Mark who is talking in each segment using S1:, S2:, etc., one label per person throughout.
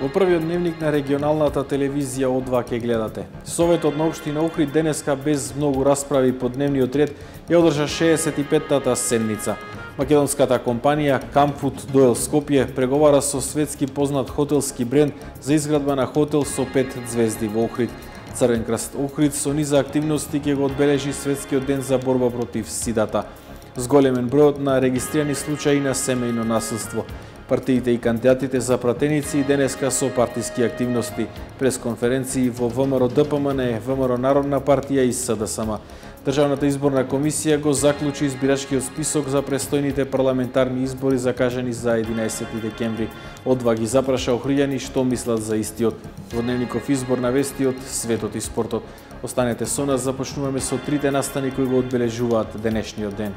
S1: Во првиот дневник на регионалната телевизија О2 ке гледате. Советот на општина Охрид денеска без многу расправи по дневниот ред ја одржа 65-тата седница. Македонската компанија Камфуд Доел Скопје преговара со светски познат хотелски бренд за изградба на хотел со 5 звезди во Охрид. Црвен крст Охрид со низа активности ќе го одбележи светскиот ден за борба против сидата. Зголемен бројот на регистрирани случаи на семејно насилство. Партиите и кандидатите за пратеници денеска со партиски активности, пресконференции во ВМРО ДПМН, ВМРО Народна партија и СДСМ. Државната изборна комисија го заклучи избирачкиот список за престојните парламентарни избори закажани за 11 декември. О2 ги запраша охриѓани што мислат за истиот. Во дневников избор на вести од светот и спортот. Останете со нас, започнуваме со трите настани кои го одбележуваат денешниот ден.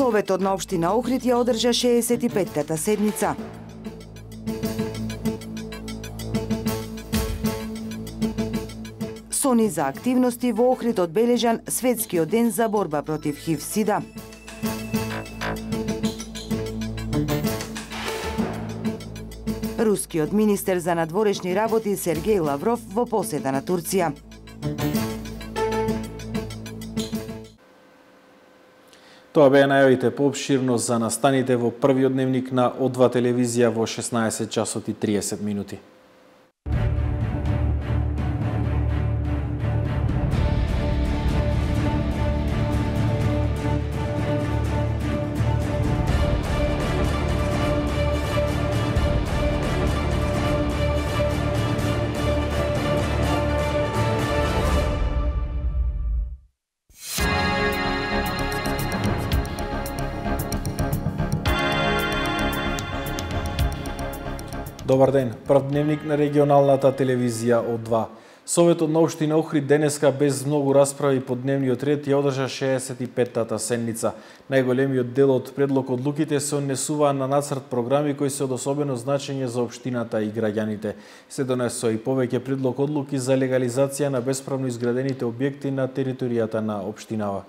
S2: Советот на општина Охрид ја одржа 65-тата седница. Со низа активности во Охрид одбележан светскиот ден за борба против ХИВ-СИДА. Рускиот министер за надворешни работи Сергеј Лавров во посета на Турција.
S1: Тоа беа најавите поопширно за настаните во првиот дневник на О2 телевизија во 16 часот и 30 минути. Добар ден, прв дневник на регионалната телевизија О2. Советот на општина Охрид денеска без многу расправи по дневниот ред ја одржа 65-тата седница. Најголемиот дел од предлог одлуките се однесуваа на нацрт програми кои се од особено значење за општината и граѓаните. Се донесоа и повеќе предлог одлуки за легализација на бесправно изградените објекти на територијата на општинава.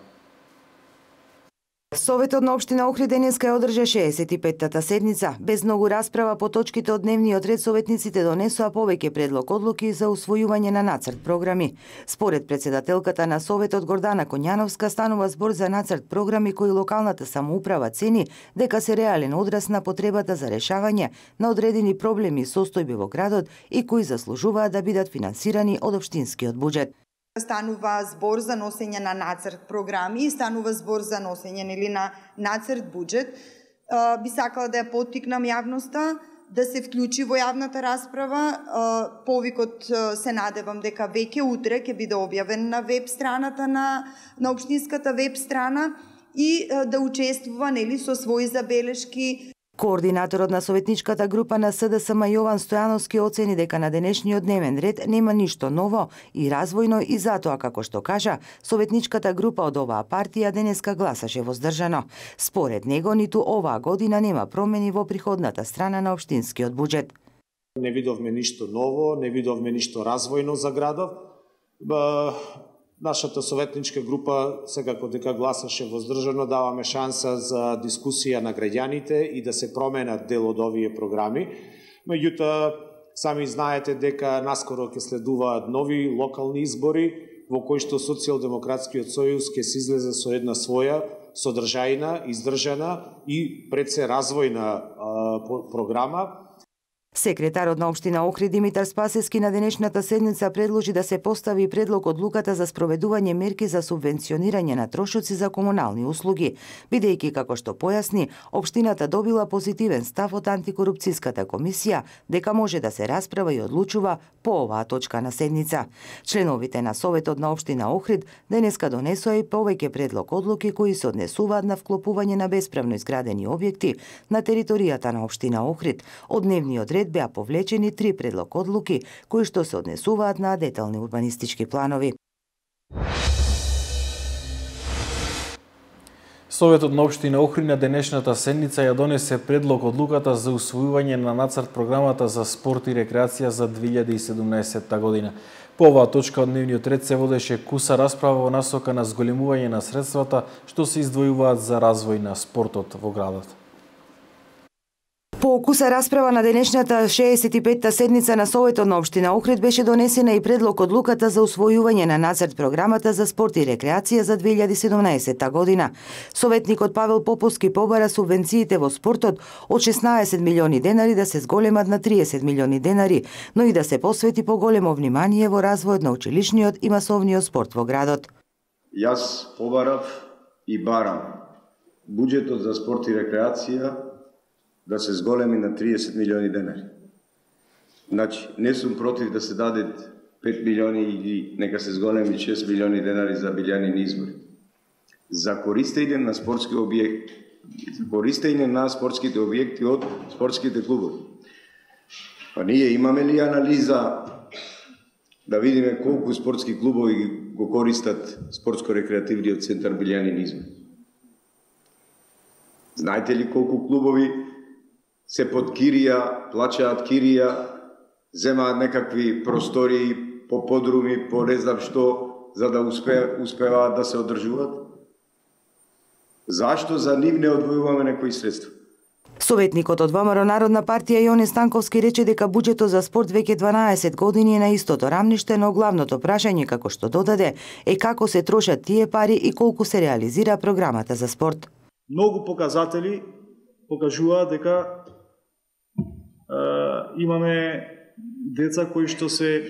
S2: Советот на општина Охрид денеска ја одржа 65-тата седница. Без многу расправа по точките од дневниот ред, советниците донесоа повеќе предлог одлуки за усвојување на нацрт програми. Според председателката на Советот Гордана Коњановска, станува збор за нацрт програми кои локалната самоуправа цени дека се реален одраз на потребата за решавање на одредени проблеми и состојби во градот и кои заслужуваат да бидат финансирани од општинскиот буџет.
S3: Станува збор за носење на нацрт програми, станува збор за носење на нацрт буџет. Би сакала да ја поттикнам јавноста да се вклучи во јавната расправа. Повикот се надевам дека веќе утре ќе биде објавен на веб страната на општинската веб страна и да учествува со своји забелешки.
S2: Координаторот на советничката група на СДСМ Јован Стојановски оцени дека на денешниот дневен ред нема ништо ново и развојно и затоа, како што кажа, советничката група од оваа партија денеска гласаше воздржано. Според него, ниту оваа година нема промени во приходната страна на општинскиот буџет.
S4: Не видовме ништо ново, не видовме ништо развојно за градов. Нашата советничка група секако дека гласаше воздржано, даваме шанса за дискусија на граѓаните и да се променат дел од овие програми. Меѓутоа, сами знаете дека наскоро ќе следуваат нови локални избори во кои што Социјалдемократскиот сојуз ќе се излезе со една своја содржајна, издржана и пред се развојна програма.
S2: Секретарот на општина Охрид Димитар Спасески на денешната седница предложи да се постави предлог одлуката за спроведување мерки за субвенционирање на трошоци за комунални услуги, бидејќи, како што појасни, општината добила позитивен став од антикорупцијската комисија дека може да се расправа и одлучува по оваа точка на седница. Членовите на Советот на општина Охрид денеска донесоа и повеќе предлог одлуки кои се однесуваат на вклопување на бесправно изградени објекти на територијата на општина Охрид. Од дневниот ред беа повлечени 3 предлог одлуки кои што се однесуваат на детални урбанистички планови.
S1: Советот на општина Охрид на денешната седница ја донесе предлог одлуката за усвојување на нацрт програмата за спорт и рекреација за 2017 година. По оваа точка од дневниот ред се водеше куса расправа во насока на зголемување на средствата што се издвојуваат за развој на спортот во градот.
S2: По куса расправа на денешната 65-та седница на Советот на општина Охрид беше донесена и предлог одлуката за усвојување на нацрт програмата за спорт и рекреација за 2017 година. Советникот Павел Поповски побара субвенциите во спортот од 16 милиони денари да се зголемат на 30 милиони денари, но и да се посвети поголемо внимание во развојот на училишниот и масовниот спорт во градот.
S5: Јас побарав и барам буџетот за спорт и рекреација да се зголеми на 30 милиони денари. Значи, не сум против да се дадат 5 милиони или нека се зголеми 6 милиони денари за билјанини избори. За користење на спортски објекти, користење на спортските објекти од спортските клубови. Па ние имаме ли анализа да видиме колку спортски клубови го користат спортско-рекреативниот центар билјанини избори? Знаете ли колку клубови се под кирија, плачаат кирија, земаат некакви простории по подруми, по не знам што, за да успеваат да се одржуваат? Зашто за нив не одвојуваме некои средства?
S2: Советникот од ВМРО Народна партија Јоне Станковски рече дека буџетот за спорт веќе 12 години е на истото рамниште, но главното прашање, како што додаде, е како се трошат тие пари и колку се реализира програмата за спорт.
S6: Многу показатели покажуваат дека имаме деца кои што се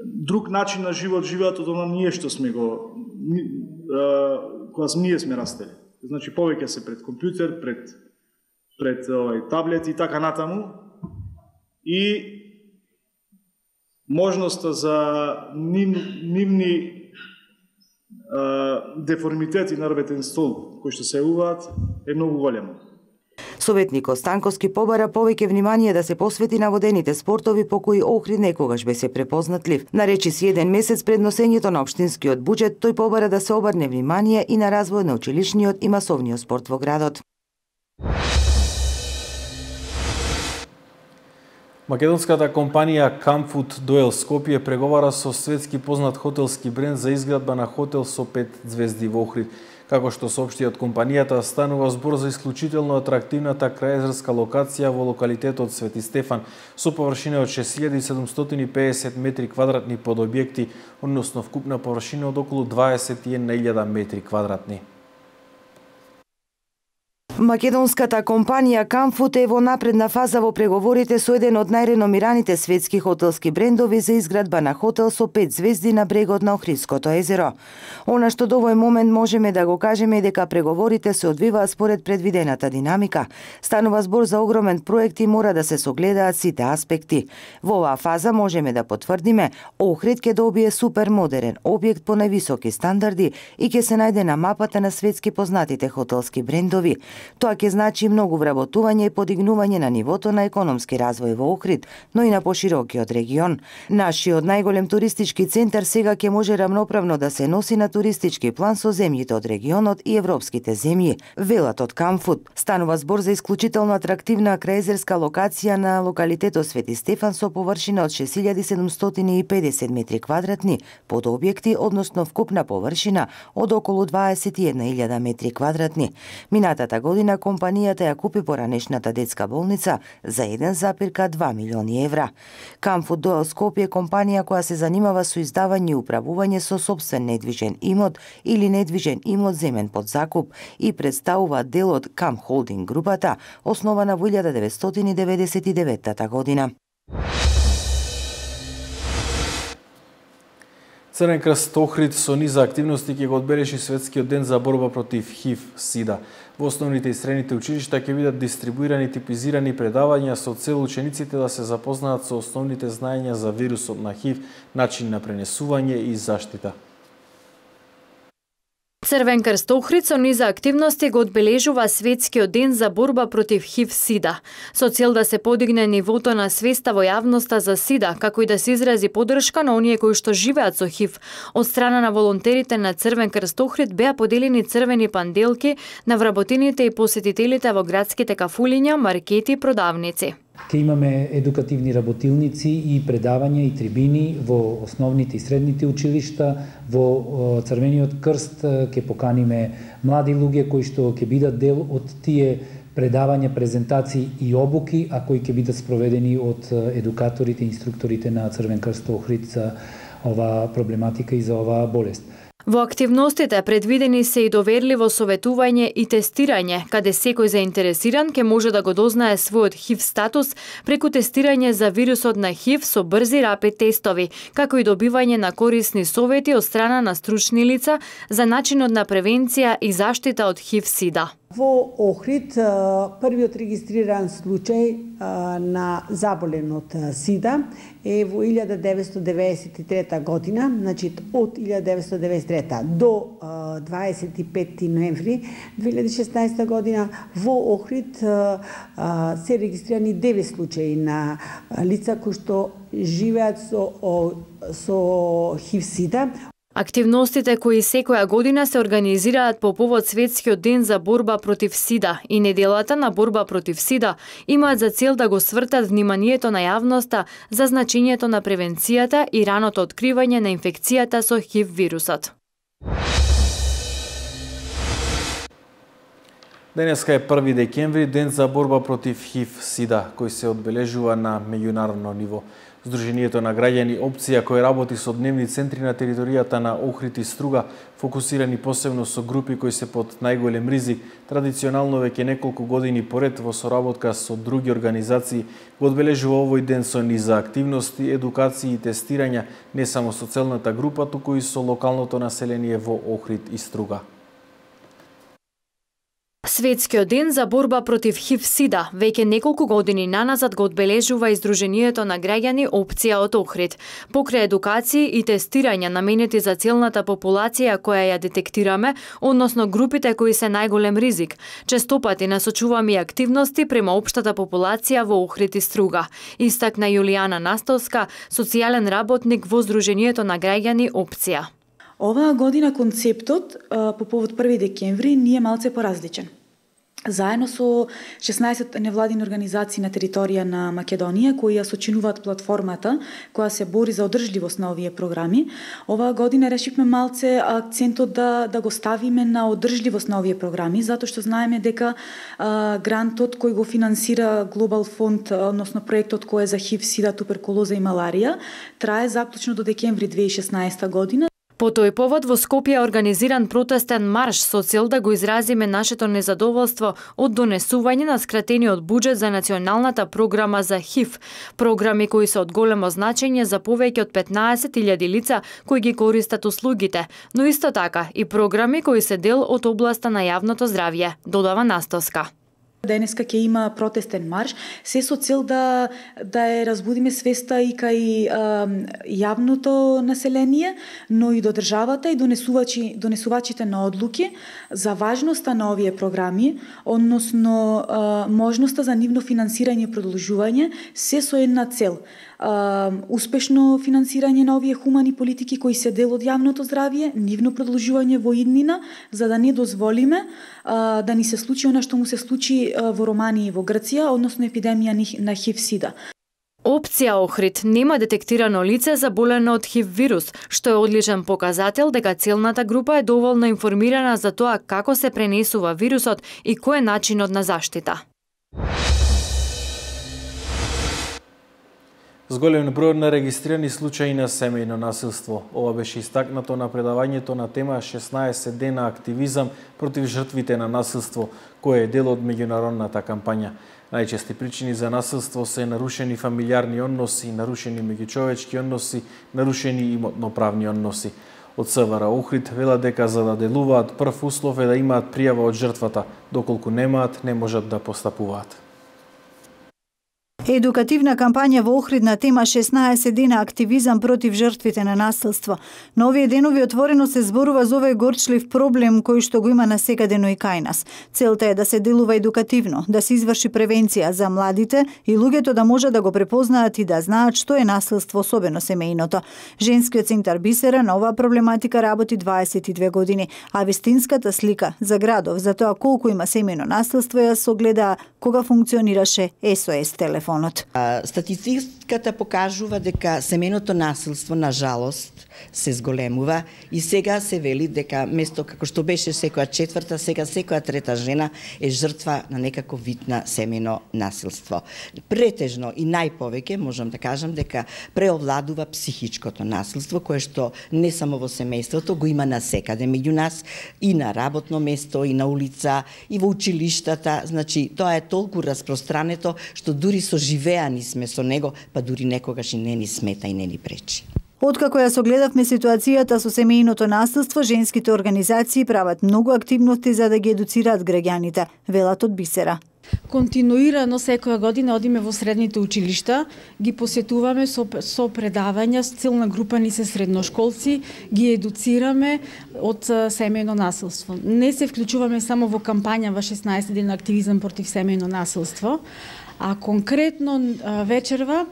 S6: друг начин на живот живеат од она ние што сме го кога ние сме растели. Значи повеќе се пред компјутер, пред таблет и така натаму, и можноста за нивни деформитети на работен стол кои што се јавуваат е многу голема.
S2: Советникот Станковски побара повеќе внимание да се посвети на водените спортови по кои Охрид некогаш беше препознатлив. Наречи си еден месец пред носењето на општинскиот буџет, тој побара да се обрне внимание и на развој на училишниот и масовниот спорт во градот.
S1: Македонската компанија Камфуд Дуел Скопје преговара со светски познат хотелски бренд за изградба на хотел со 5 звезди во Охрид. Како што соопшти од компанијата, станува збор за исклучително атрактивната крајзерска локација во локалитетот Свети Стефан со површина од 6750 метри квадратни под објекти, односно вкупна површина од околу 21.000 метри квадратни.
S2: Македонската компанија Камфуд е во напредна фаза во преговорите со еден од најреномираните светски хотелски брендови за изградба на хотел со 5 звезди на брегот на Охридското езеро. Она што до овој момент можеме да го кажеме е дека преговорите се одвиваат според предвидената динамика. Станува збор за огромен проект и мора да се согледаат сите аспекти. Во оваа фаза можеме да потврдиме, Охрид ќе добие супер модерен објект по највисоки стандарди и ќе се најде на мапата на светски познатите хотелски брендови. Тоа ќе значи многу вработување и подигнување на нивото на економски развој во Охрид, но и на поширокиот регион. Нашиот најголем туристички центар сега ќе може рамноправно да се носи на туристички план со земјите од регионот и европските земји, велат од Камфуд. Станува збор за исклучително атрактивна крајзерска локација на локалитетот Свети Стефан со површина од 6750 метри квадратни под објекти, односно вкупна површина од околу 21.000 метри квадратни. Минатата година компанијата ја купи поранешната детска болница за 1,2 милиони евра. Камфуд Дуел Скопје е компанија која се занимава со издавање и управување со сопствен недвижен имот или недвижен имот земен под закуп и представува дел од Кам Холдинг групата, основана во 1999 година.
S1: Црвен крст Охрид со низа активности ќе го одбележи светскиот ден за борба против ХИВ-СИДА. Во основните и средните училишта ќе бидат дистрибуирани типизирани предавања со цел учениците да се запознаат со основните знаења за вирусот на ХИВ, начин на пренесување и заштита.
S7: Црвен крст Охрид со низа активности го одбележува светскиот ден за борба против ХИВ-СИДА, со цел да се подигне нивото на свеста во јавноста за СИДА, како и да се изрази поддршка на оние кои што живеат со ХИВ. Од страна на волонтерите на Црвен крст Охрид беа поделени црвени панделки на вработените и посетителите во градските кафулиња, маркети и продавници.
S8: Ке имаме едукативни работилници и предавања и трибини во основните и средните училишта. Во Црвениот крст ке поканиме млади луѓе кои што ќе бидат дел од тие предавања, презентации и обуки, а кои ќе бидат спроведени од едукаторите и инструкторите на Црвен крст Охрид за оваа проблематика и за оваа болест.
S7: Во активностите предвидени се и доверливо советување и тестирање, каде секој заинтересиран ќе може да го дознае својот ХИВ статус преку тестирање за вирусот на ХИВ со брзи рапид тестови, како и добивање на корисни совети од страна на стручни лица за начинот на превенција и заштита од ХИВ-СИДА.
S9: Во Охрид првиот регистриран случај на заболен од СИДА е во 1993 година, значи од 1993 до 25 ноември 2016 година во Охрид се регистрирани 9 случаи на лица кои што живеат со ХИВ-СИДА.
S7: Активностите кои секоја година се организираат по повод Светскиот ден за борба против СИДА и неделата на борба против СИДА имаат за цел да го свртат вниманието на јавноста за значењето на превенцијата и раното откривање на инфекцијата со ХИВ вирусот.
S1: Денеска е 1 декември, ден за борба против ХИВ-СИДА, кој се одбележува на меѓународно ниво. Сдруженијето на граѓани Опција, кој работи со дневни центри на територијата на Охрид и Струга, фокусирани посебно со групи кои се под најголем ризик, традиционално веќе неколку години поред во соработка со други организации, го одбележува овој ден со низа активности, едукации и тестирања не само со целната група, туку и со локалното население во Охрид и Струга.
S7: Светскиот ден за борба против ХИВ-СИДА веќе неколку години наназад го одбележува и Сдруженијето на граѓани Опција од Охрид. Покрај едукации и тестирања наменети за целната популација која ја детектираме, односно групите кои се најголем ризик, честопати насочуваме и активности према општата популација во Охрид и Струга, истакна Јулијана Настовска, социјален работник во Сдруженијето на граѓани Опција.
S10: Оваа година концептот по повод 1 декември ни е малце поразличен. Заедно со 16 невладини организации на територија на Македонија кои ја сочинуваат платформата која се бори за одржливост на овие програми, оваа година решивме малце акцентот да го ставиме на одржливост на овие програми, затоа што знаеме дека грантот кој го финансира Глобал фонд, односно проектот кој е за ХИВ, СИДА, туберкулоза и маларија, трае заклучно до декември 2016 година.
S7: По тој повод во Скопје е организиран протестен марш со цел да го изразиме нашето незадоволство од донесување на скратениот буџет за националната програма за ХИВ, програми кои се од големо значење за повеќе од 15.000 лица кои ги користат услугите, но исто така и програми кои се дел од областа на јавното здравје, додава Настовска.
S10: Денеска ќе има протестен марш, се со цел да ја разбудиме свеста и кај јавното население, но и до државата и донесувачите на одлуки за важноста на овие програми, односно можноста за нивно финансирање и продолжување, се со една цел. Успешно финансирање на овие хумани политики кои се дел од јавното здравје, нивно продолжување во иднина, за да не дозволиме да ни се случи она што му се случи во Романија и во Грција, односно епидемија на ХИВ-СИДА.
S7: Опција Охрид нема детектирано лице заболено од ХИВ вирус, што е одличен показател дека целната група е доволно информирана за тоа како се пренесува вирусот и кој е начинот на заштита.
S1: Зголем број на регистрирани случаи на семејно насилство. Ова беше истакнато на предавањето на тема 16 дена активизам против жртвите на насилство, кој е дел од меѓународната кампања. Најчести причини за насилство се нарушени фамилиарни односи, нарушени меѓучовечки односи, нарушени имотноправни односи. Од СВР Охрид велат дека за да делуваат прв услов е да имаат пријава од жртвата, доколку немаат, не можат да постапуваат.
S11: Едукативна кампања во Охрид на тема 16 дена активизам против жртвите на насилство. На овие денови отворено се зборува за овој горчлив проблем кој што го има насекадено и кај нас. Целта е да се делува едукативно, да се изврши превенција за младите и луѓето да можат да го препознаат и да знаат што е насилство, особено семејното. Женскиот центар Бисера на оваа проблематика работи 22 години, а вистинската слика за градов за тоа колку има семејно насилство ја согледа кога функционираше SOS телефон.
S12: Статистиката покажува дека семејното насилство на жалост се зголемува и сега се вели дека место како што беше секоја четврта, сега секоја трета жена е жртва на некако вид на семејно насилство. Претежно и најповеќе можам да кажам дека преовладува психичкото насилство кое што не само во семејството го има насекаде меѓу нас и на работно место и на улица и во училиштата, значи тоа е толку распространето што дури живеани сме со него, па дури некогаш и не ни смета и не ни пречи.
S11: Откако ја согледавме ситуацијата со семејното насилство, женските организации прават многу активности за да ги едуцираат граѓаните, велат од Бисера.
S13: Континуирано секоја година одиме во средните училишта, ги посетуваме со предавања, целна група ни се средношколци, ги едуцираме од семејно насилство. Не се вклучуваме само во кампања во 16 дена активизам против семејно насилство, а конкретно вечерва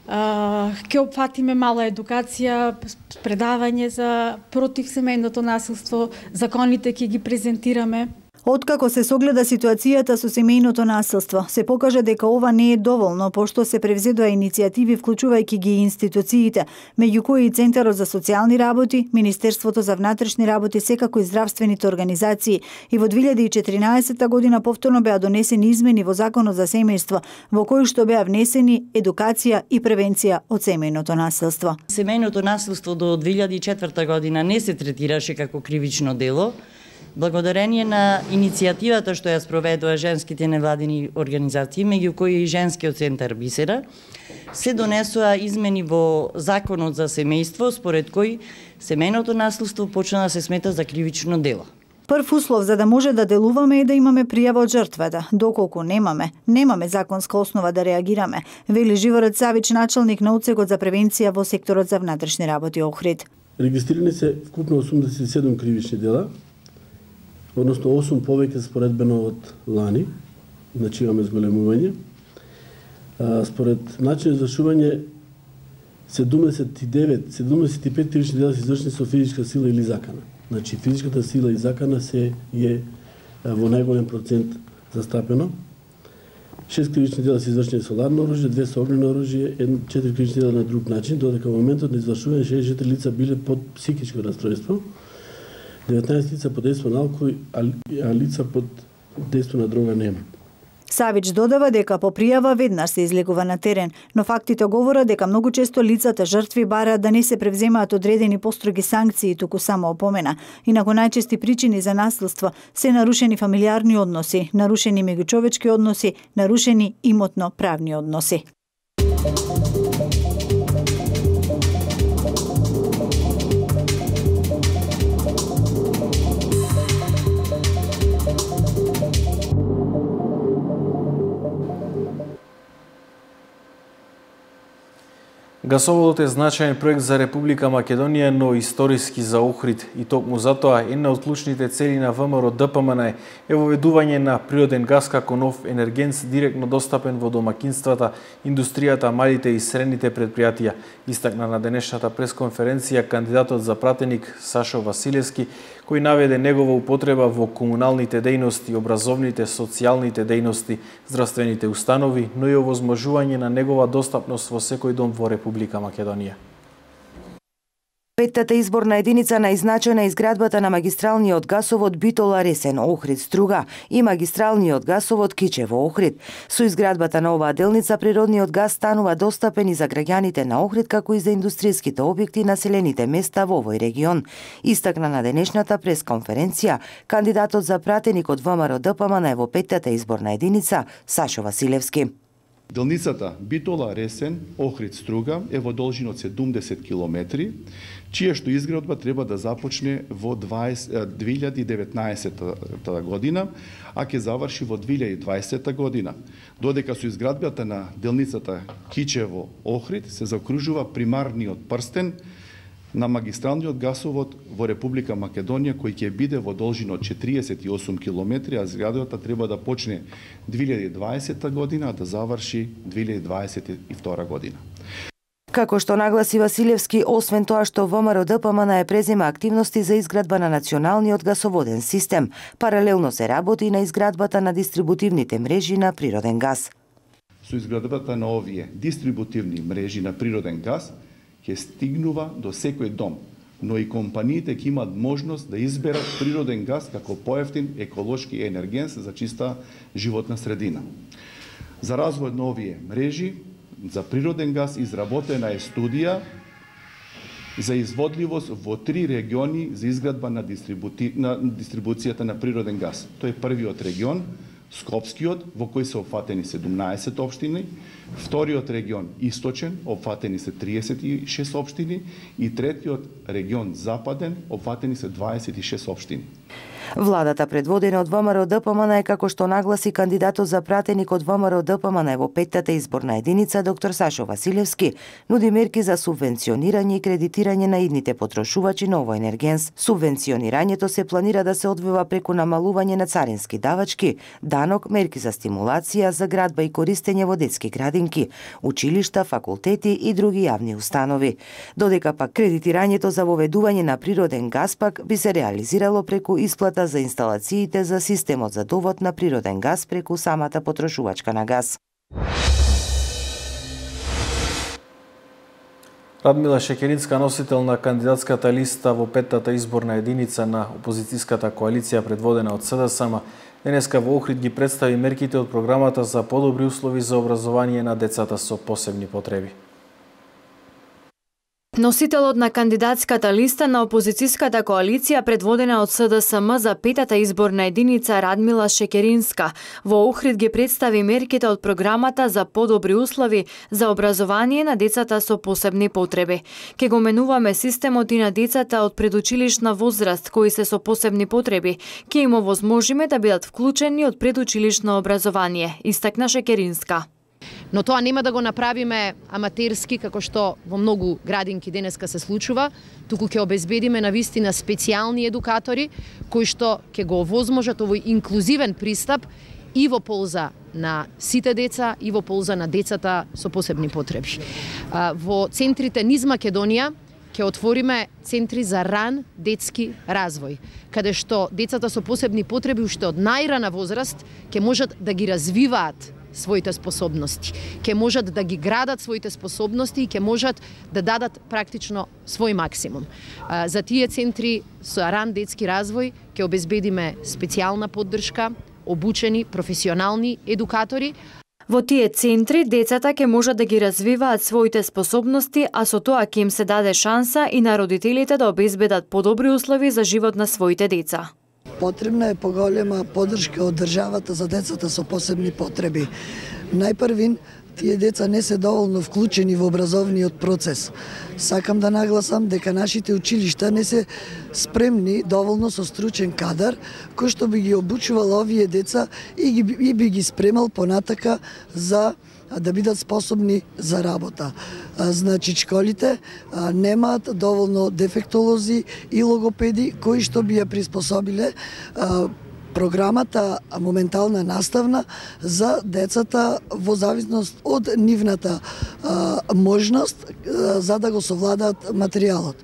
S13: ќе опфатиме мала едукација, предавање за против семејното насилство, законите ќе ги презентираме.
S11: Откако се согледа ситуацијата со семејното насилство, се покажа дека ова не е доволно, пошто се превзедоа иницијативи вклучувајќи ги институциите, меѓу кои и Центарот за социјални работи, Министерството за внатрешни работи, секако и здравствените организации. И во 2014 година повторно беа донесени измени во Законот за семејство, во кои што беа внесени едукација и превенција од семејното насилство.
S14: Семејното насилство до 2004 година не се третираше како кривично дело. Благодарение на иницијативата што ја спроведува женските невладини организации, меѓу кои и Женскиот центар Бисера, се донесоа измени во Законот за семејство, според кој семејното насилство почна да се смета за кривично дело.
S11: Прв услов за да може да делуваме е да имаме пријава од жртвата. Доколку немаме законска основа да реагираме, вели Живород Савич, началник на Одсекот за превенција во секторот за внатрешни работи Охрид.
S15: Регистрирани се вкупно 87 кривични дела, односно 8 повеќе споредбено од лани, значи имаме зголемување. Според начин за извршување 75 кривични дела се извршени со физичка сила или закана. Значи физичката сила и закана се е во најголем процент застапено. 6 кривични дела се извршени со ладно оружје, 2 со огнено оружје, 4 кривични дела на друг начин, додека во моментот на извршување 64 лица биле под психичко расстройство, 19 лица под дејство на алкохол, а лица под дејство на дрога нема.
S11: Савич додава дека по пријава веднаш се излегува на терен, но фактите говорат дека многу често лицата жртви бараат да не се превземаат одредени построги санкции, туку само опомена. Инаку најчести причини за насилство се нарушени фамилиарни односи, нарушени меѓучовечки односи, нарушени имотно-правни односи.
S1: Гасоводот е значаен проект за Република Македонија, но историски за Охрид и токму затоа една од клучните цели на ВМРО ДПМН е воведување на природен газ како нов енергент директно достапен во домакинствата, индустријата, малите и средните предпријатија. Истакна на денешната пресконференција кандидатот за пратеник Сашо Василевски, кој наведе негова употреба во комуналните дејности, образовните, социјалните дејности, здравствените установи, но и овозможување на негова достапност во секој дом во Република Македонија.
S2: Петтата изборна единица најзначајна изградбата на магистралниот гасовод Битола Ресен Охрид Струга и магистралниот гасовод Кичево Охрид. Со изградбата на оваа делница природниот газ станува достапен и за граѓаните на Охрид, како и за индустријските објекти и населените места во овој регион. Истакна на денешната пресконференција кандидатот за пратеник од ВМРО ДПМН во петтата изборна единица Сашо Василевски.
S16: Делницата Битола-Ресен, Охрид-Струга е во должина од 70 километри, чија што изградба треба да започне во 2019 година, а ќе заврши во 2020 година. Додека со изградбата на делницата Кичево-Охрид се заокружува примарниот прстен на магистралниот гасовод во Република Македонија, кој ќе биде во должина од 48 километри, а изградбата треба да почне 2020 година, а да заврши 2022 година.
S2: Како што нагласи Василевски, освен тоа што ВМРО ДПМН е презема активности за изградба на националниот гасоводен систем, паралелно се работи и на изградбата на дистрибутивните мрежи на природен газ.
S16: Со изградбата на овие дистрибутивни мрежи на природен газ ќе стигнува до секој дом, но и компаниите ќе имаат можност да изберат природен газ како поевтин еколошки енергенс за чиста животна средина. За развој на овие мрежи за природен газ изработена е студија за изводливост во 3 региони за изградба на дистрибуцијата на природен газ. Тој е првиот регион, Скопскиот, во кој се опфатени 17 општини, вториот регион Источен, опфатени се 36 општини и третиот регион Западен, опфатени се 26 општини.
S2: Владата предводена од ВМРО ДПМН е, како што нагласи кандидатот за пратеник од ВМРО ДПМН во 5-та изборна единица доктор Сашо Василевски, нуди мерки за субвенционирање и кредитирање на идните потрошувачи на овој енергенс. Субвенционирањето се планира да се одвива преку намалување на царински давачки, данок, мерки за стимулација, за градба и користење во детски градинки, училишта, факултети и други јавни установи. Додека пак кредитирањето за воведување на природен газ пак би се реализирало преку исплата за инсталациите за системот за довод на природен газ преку самата потрошувачка на газ.
S1: Радмила Шекеринска, носител на кандидатската листа во 5-та изборна единица на опозицијската коалиција предводена од СДСМ, денеска во Охрид ги представи мерките од програмата за подобри услови за образование на децата со посебни потреби.
S7: Носителот на кандидатската листа на опозицијската коалиција предводена од СДСМ за 5-та изборна единица Радмила Шекеринска во Охрид ги представи мерките од програмата за подобри услови за образование на децата со посебни потреби. Ке го менуваме системот и на децата од предучилишна возраст кои се со посебни потреби, ке им овозможиме да бидат вклучени од предучилишно образование, истакна Шекеринска.
S17: Но тоа нема да го направиме аматерски, како што во многу градинки денеска се случува, туку ќе обезбедиме навистина специјални едукатори, кои што ќе го овозможат овој инклузивен пристап и во полза на сите деца и во полза на децата со посебни потреби. Во центрите низ Македонија ќе отвориме центри за ран детски развој, каде што децата со посебни потреби уште од најрана возраст ќе можат да ги развиваат своите способности, ќе можат да ги градат своите способности и ќе можат да дадат практично свој максимум. За тие центри со ран детски развој ќе обезбедиме специјална поддршка, обучени професионални едукатори.
S7: Во тие центри децата ќе можат да ги развиваат своите способности, а со тоа ќе им се даде шанса и на родителите да обезбедат подобри услови за живот на своите деца.
S18: Потребна е поголема поддршка од државата за децата со посебни потреби. Најпрвин, тие деца не се доволно вклучени во образовниот процес. Сакам да нагласам дека нашите училишта не се спремни доволно со стручен кадар, кој што би ги обучувал овие деца и би ги спремал понатака за да бидат способни за работа. Значи, школите немаат доволно дефектолози и логопеди кои што би ја приспособиле програмата моментална наставна за децата во зависност од нивната можност за да го совладаат материјалот.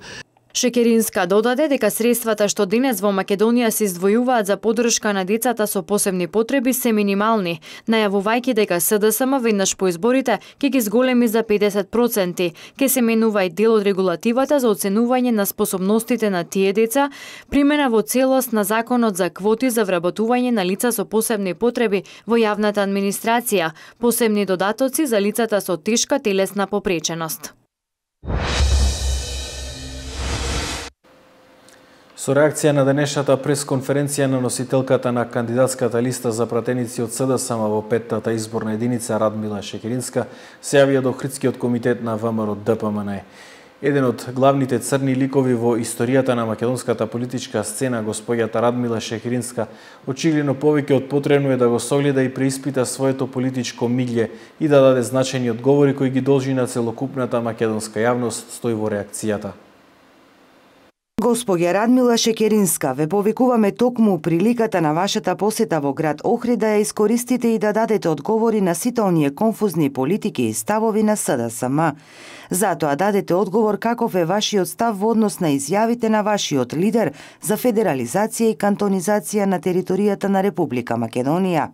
S7: Шекеринска додаде дека средствата што денес во Македонија се издвојуваат за поддршка на децата со посебни потреби се минимални, најавувајќи дека СДСМ веднаш по изборите ќе ги зголеми за 50%, ќе се менува и дел од регулативата за оценување на способностите на тие деца, примена во целост на законот за квоти за вработување на лица со посебни потреби во јавната администрација, посебни додатоци за лицата со тешка телесна попреченост.
S1: Со реакција на денешната пресконференција на носителката на кандидатската листа за пратеници од СДСМ во 5-тата изборна единица Радмила Шекеринска, се јавија до Охридскиот комитет на ВМРО ДПМН. Еден од главните црни ликови во историјата на македонската политичка сцена, господјата Радмила Шекеринска, очигледно повеќе од потребно е да го согледа и преиспита своето политичко миѓе и да даде значајни одговори кои ги должи на целокупната македонска јавност, стои во реакцијата.
S2: Госпоѓа Радмила Шекеринска, ве повикуваме токму приликата на вашата посета во град Охрид да ја искористите и да дадете одговори на сите оние конфузни политики и ставови на СДСМ. Затоа дадете одговор каков е вашиот став во однос на изјавите на вашиот лидер за федерализација и кантонизација на територијата на Република Македонија.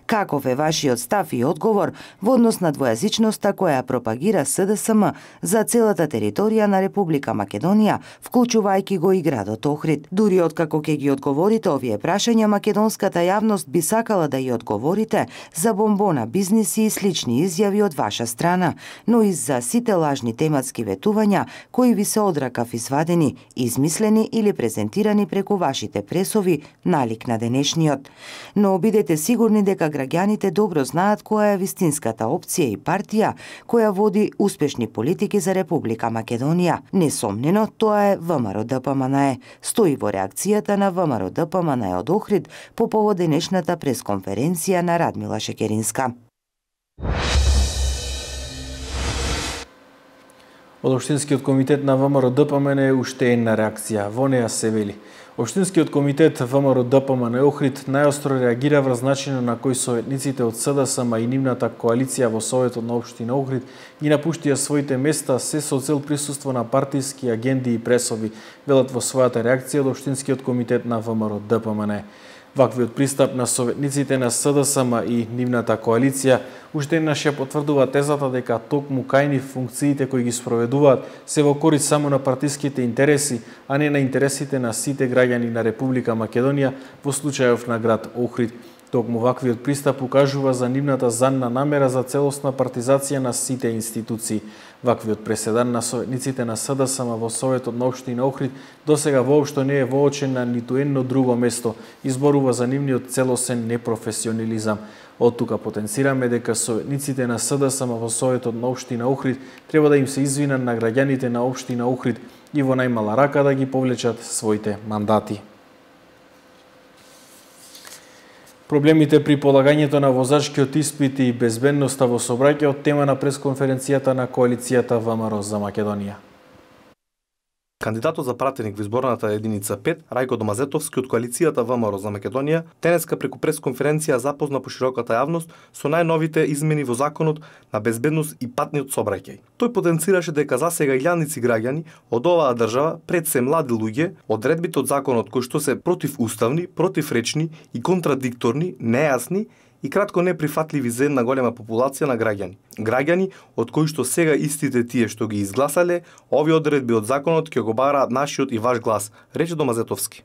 S2: Каков е вашиот став и одговор во однос на двојазичноста која пропагира СДСМ за целата територија на Република Македонија, вклучувајќи го и градот Охрид. Дури откако ќе ги одговорите овие прашања, македонската јавност би сакала да ја одговорите за бомбона бизниси и слични изјави од ваша страна, но и за сите лажни тематски ветувања кои ви се одракав извадени, измислени или презентирани преку вашите пресови, налик на денешниот. Но бидете сигурни дека граѓаните добро знаат која е вистинската опција и партија која води успешни политики за Република Македонија. Несомнено, тоа е ВМРО ДПМН. Стои во реакцијата на ВМРО ДПМН од Охрид по повод денешната пресконференција на Радмила Шекеринска.
S1: Од Општинскиот комитет на ВМРО ДПМН уште една реакција. Во неа се вели: Општинскиот комитет ВМРО ДПМН Охрид најостро реагира врз начинот на кој советниците од СДСМ и нивната коалиција во Советот на Општина Охрид ги напуштија своите места се со цел присуство на партиски агенди и пресови, велат во својата реакција од Општинскиот комитет на ВМРО ДПМН. Ваквиот пристап на советниците на СДСМ и нивната коалиција уште еднаш ја потврдува тезата дека токму кај нив функциите кои ги спроведуваат се во корист само на партиските интереси, а не на интересите на сите граѓани на Република Македонија, во случајов на град Охрид. Токму ваквиот пристап укажува за нивната занна намера за целосна партизација на сите институции. Ваквиот преседан на советниците на СДСМ во Советот на Општина Охрид досега воопшто не е воочен на ниту едно друго место, изборува за нивниот целосен непрофесионализам. Од тука потенцираме дека советниците на СДСМ во Советот на Општина Охрид треба да им се извинат на граѓаните на Општина Охрид и во најмала рака да ги повлечат своите мандати. Проблемите при полагањето на возачкиот испит и безбедноста во сообраќајот тема на пресконференцијата на коалицијата ВМРО за Македонија.
S19: Кандидатот за пратеник во изборната единица 5, Рајко Домазетовски од коалицијата ВМРО за Македонија, денеска преку пресконференција запозна по широката јавност со најновите измени во законот на безбедност и патниот сообраќај. Тој потенцираше дека засега илјадници граѓани од оваа држава, пред се млади луѓе, одредбите од законот кои што се противуставни, противречни и контрадикторни, нејасни и кратко неприфатливи за една голема популација на граѓани. Граѓани од кои што сега истите тие што ги изгласале, овие одредби од законот ќе го бараат нашиот и ваш глас, рече Домазетовски.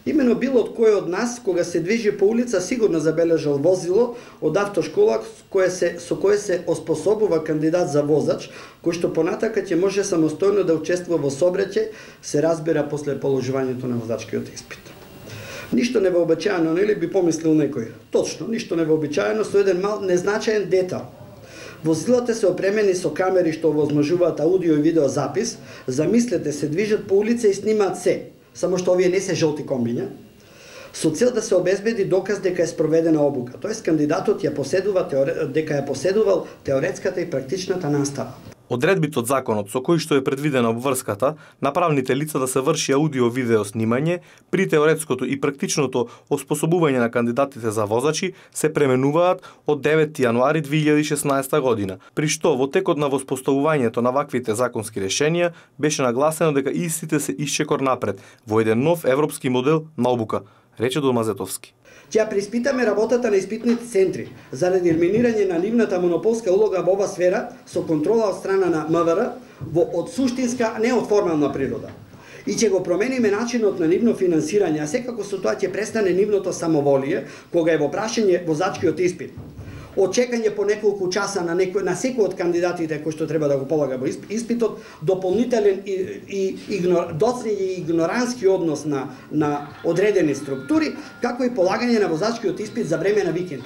S20: Имено било од кој од нас, кога се движи по улица, сигурно забележал возило од автошкола со кое се оспособува кандидат за возач, кој што понатака ќе може самостојно да учествува во сообраќај, се разбира после положувањето на возачкиот испит. Ништо невообичаено, нели би помислил некој? Точно, ништо невообичаено со еден мал незначаен детал. Возилата се опремени со камери што овозможуваат аудио и видео запис, замислете се движат по улица и снимаат се, само што овие не се жолти комбиња, со цел да се обезбеди доказ дека е спроведена обука, тоест кандидатот дека ја поседувал теоретската и практичната настава.
S19: Одредбите од законот со кои што е предвидена обврската на правните лица да се врши аудио-видео снимање при теоретското и практичното оспособување на кандидатите за возачи се пременуваат од 9 јануари 2016 година, при што во текот на воспоставувањето на ваквите законски решенија беше нагласено дека истите се исчекор напред во еден нов европски модел на обука, рече Домазетовски.
S20: Ќе преиспитаме работата на испитните центри заради елиминирање на нивната монополска улога во оваа сфера со контрола од страна на МВР од суштинска, не од формална природа. И ќе го промениме начинот на нивно финансирање, а секако со тоа ќе престане нивното самоволие кога е во прашање возачкиот испит. од чекање по неколку часа на секој од кандидатите кои што треба да го полага во испитот, дополнителен доцнење и игнорански однос на одредени структури, како и полагање на возачкиот испит за време на викенд.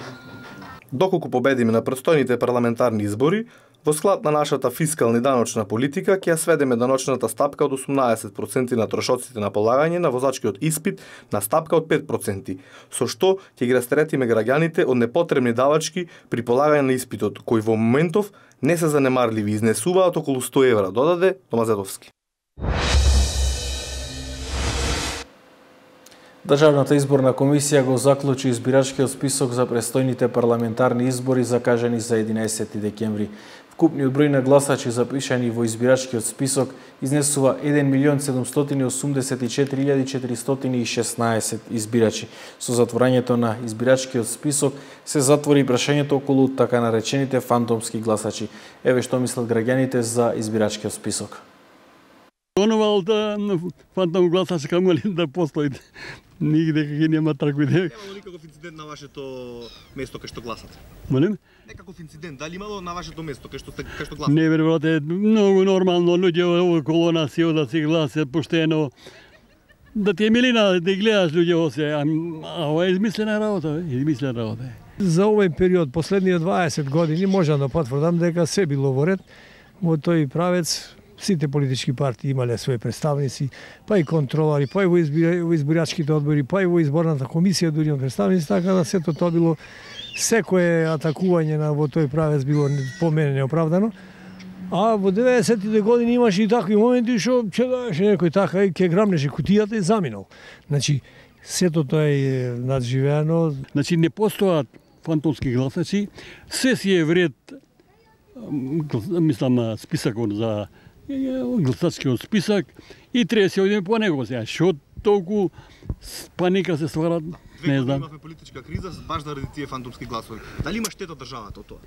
S19: Доколку победиме на престојните парламентарни избори, во склад на нашата фискална и даночна политика ќе ја сведеме даночната стапка од 18% на трошоците на полагање на возачкиот испит на стапка од 5%, со што ќе ги растретиме граѓаните од непотребни давачки при полагање на испитот, кои во моментов не се занемарливи, изнесуваат околу 100 евра, додаде Домазедовски.
S1: Државната изборна комисија го заклучи избирачкиот список за престојните парламентарни избори закажани за 11 декември. Вкупниот број на гласачи запишани во избирачкиот список изнесува 1.784.416 избирачи. Со затворањето на избирачкиот список се затвори прашањето околу така наречените фантомски гласачи. Еве што мислат граѓаните за избирачкиот список.
S21: Онова фантом гласач камо ли да постои. Нигде кај нема такви.
S19: Немало никаков инцидент на вашето место кај што гласате?
S21: Молим?
S19: Некаков инцидент, дали имало на вашето место кај што гласате?
S21: Не, брате, многу нормално луѓе околу нас и да си гласат поштено. Да ти е милина да гледаш луѓе осе, а ова е измислена работа, измислена работа.
S22: За овој период, последниот 20 години, можам да потврдам дека се било во ред во тој правец. Сите политички партии имале своји представници, па и контролари, па и во избирачките одбори, па и во изборната комисија дури представници, така да сето тоа било, секое атакување во тој правец било по мене неоправдано. А во 90-тите години имаше и такви моменти што ќе даеше некој така и ќе грамнеше кутијата и заминал. Значи, сето тоа е надживеано.
S21: Значи, не постојат фантомски гласачи, се си е вред, мислам, списакот за гласачкиот список и треба се одиме по него сега. Што толку паника се ствара, не знам.
S19: Имавме политичка криза баш заради тие фантомски гласови. Дали има штета државата од тоа?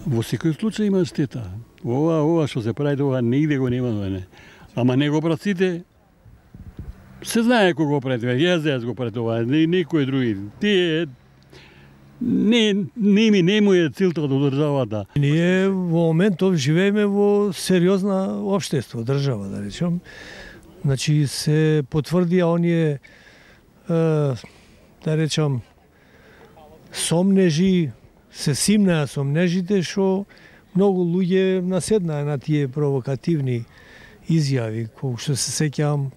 S21: Во секој случај има штета. Ова што се прави тоа нигде го нема, не. Ама не го прават сите. Се знае кој го прави, јас го прави тоа, никој други. Тие не му е целта до државата.
S22: Ние во моментов живееме во сериозна општество, држава, да речем. Значи се потврдија оние, да речем, сомнежи, се симнаа сомнежите што многу луѓе наседнаа на тие провокативни изјави, кои што се сеќавам,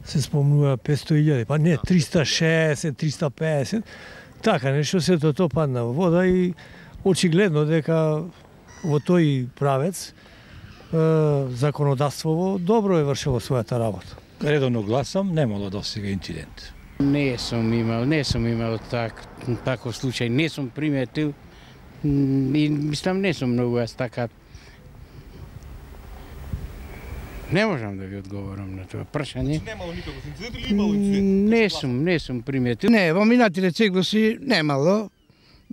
S22: се спомнува 500.000, па не, 360, 350, така нешто, сето тоа падна во вода и очигледно дека во тој правец законодавството добро е вршило својата работа.
S23: Редовно гласам, немало досега инцидент. Не сум имал таков случај, не сум приметил и мислам не сум многу јас така. Не можам да ви одговорам на тоа прашање.
S19: Немало никаков инцидент или имало инцидент?
S23: Не сум приметил.
S24: Не, во минатите циклуси немало,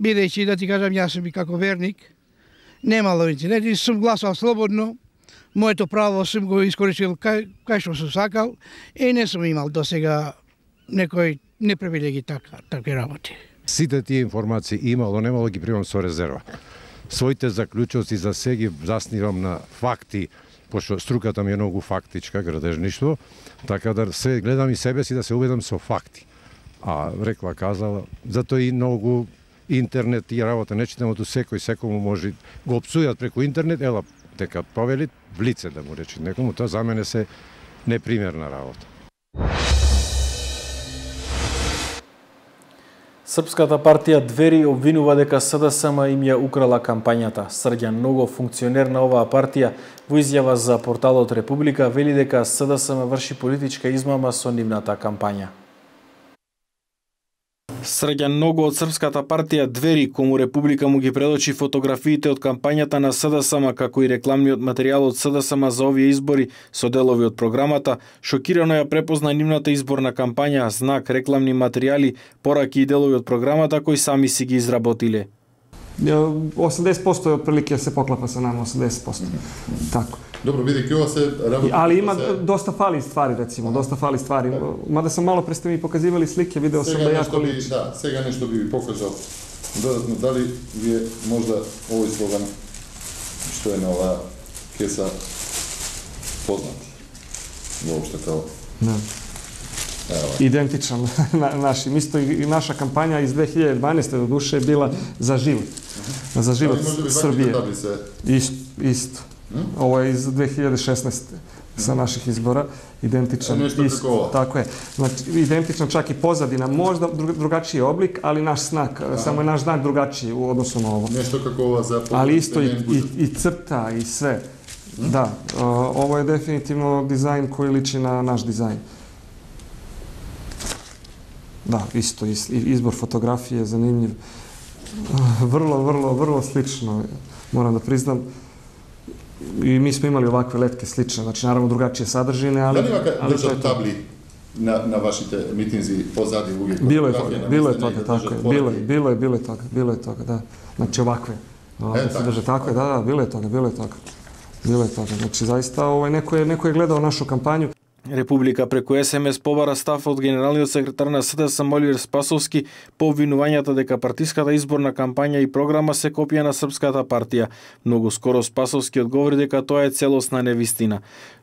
S24: бидејќи да ти кажам јас сум и како верник, немало инцидент и сум гласал слободно. Моето право сум го искористил кај што сум сакал и не сум имал досега некој непривилеги такви работи.
S25: Сите тие информации имало, немало ги примам со резерва. Своите заклучоци за се ги заснивам на факти, пошто струката ми е многу фактичка, градежништво, така да се гледам и себе си да се убедам со факти. А рекла казала, затоа и многу интернет и работа не читамото секој може го опсујат преку интернет, ела дека повели в лице да му рече некому, тоа за мене се непримерна работа.
S1: Српската партија Двери обвинува дека СДСМ им ја украла кампањата. Срѓан Ногов, функционер на оваа партија, во изјава за порталот Република, вели дека СДСМ врши политичка измама со нивната кампања. Срѓан Ного од Српската партија Двери, кому Република му ги предочи фотографиите од кампањата на СДСМ, како и рекламниот материјал од СДСМ за овие избори со делови од програмата, шокирано ја препозна нивната изборна кампања, знак, рекламни материјали, пораки и делови од програмата кои сами си ги изработиле.
S26: 80% е отприлike се поклапа со нама, 80%. Тако.
S27: Добро, бидејќи ова се работи.
S26: Ali има доста фали ствари, рецимо, доста фали ствари. Мада сам мало пред сте ми показивали слики, видео сам да јако
S27: да, сега нешто би ви покажал. Додатно, дали ви е можда овој слоган што е на оваа кеса познат? Воопшто као?
S26: Да. Идентичan нашим. Исто и наша кампања из 2012. до душе е била за живот. За живот Србија. Исто. Ова е из 2016. Sa naših izbora, identičan. Tako je. Znači, identičan čak i pozadina, možda drugačiji oblik, ali naš znak, samo je naš znak drugačiji u odnosu na ovo.
S27: Nešto kako ova zapravo...
S26: Ali isto i crta i sve. Da, ovo je definitivno dizajn koji liči na naš dizajn. Da, isto, izbor fotografije je zanimljiv. Vrlo slično, moram da priznam. I mi smo imali ovakve letke slične, znači naravno drugačije sadržine, ali...
S27: Da li ima držat tabli na vašite mitinzi pozadi uvijek?
S26: Bilo je toga, tako je. Bilo je toga, da. Znači ovakve. Tako je, da, bilo je toga. Znači zaista neko je gledao našu kampanju.
S1: Република преку СМС побара став од генералниот секретар на СДСМ Оливер Спасовски по обвинувањата дека партиската изборна кампања и програма се копија на Српската партија. Многу скоро Спасовски одговори дека тоа е целосна невистина.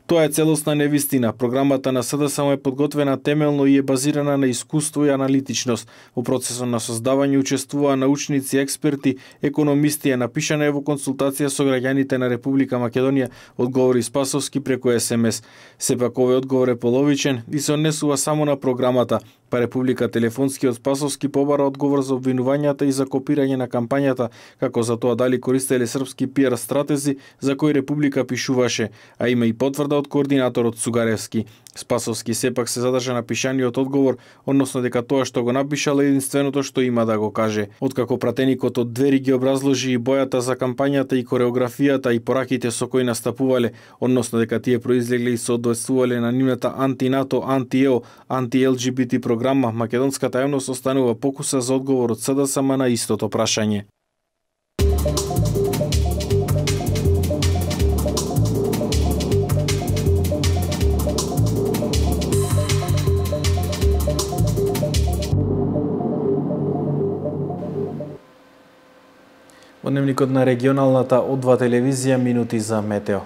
S1: Тоа е целосна невистина. Програмата на СДСМ е подготвена темелно и е базирана на искуство и аналитичност. Во процесот на создавање учествуваа научници, експерти, економисти, напишана е во консултација со граѓаните на Република Македонија, одговори Спасовски преку СМС. Сепак овој одговор е половичен и се однесува само на програмата, па Република телефонски од Спасовски побара одговор за обвинувањата и за копирање на кампањата, како за тоа дали користеле српски пиар стратези за кои Република пишуваше, а има и потврда од координаторот Цугаревски. Спасовски сепак се задржа на пишаниот одговор, односно дека тоа што го напишал е единственото што има да го каже. Откако пратеникот од Двери ги образложи и бојата за кампањата и кореографијата и пораките со кои настапувале, односно дека тие произлегле и соодветствувале на нивната анти-НАТО, анти-ЕО, анти-ЛГБТ програма, македонската јавност останува покуса за одговор од СДСМ на истото прашање. Во дневникот на регионалната О2 телевизија минути за метео.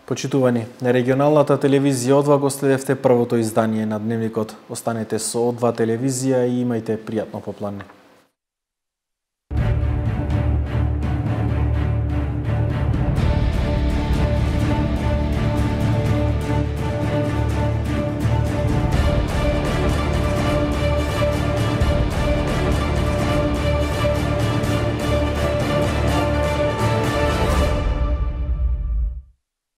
S1: Почитувани, на регионалната телевизија О2 го следевте првото издание на Дневникот. Останете со О2 телевизија и имајте пријатно попладне.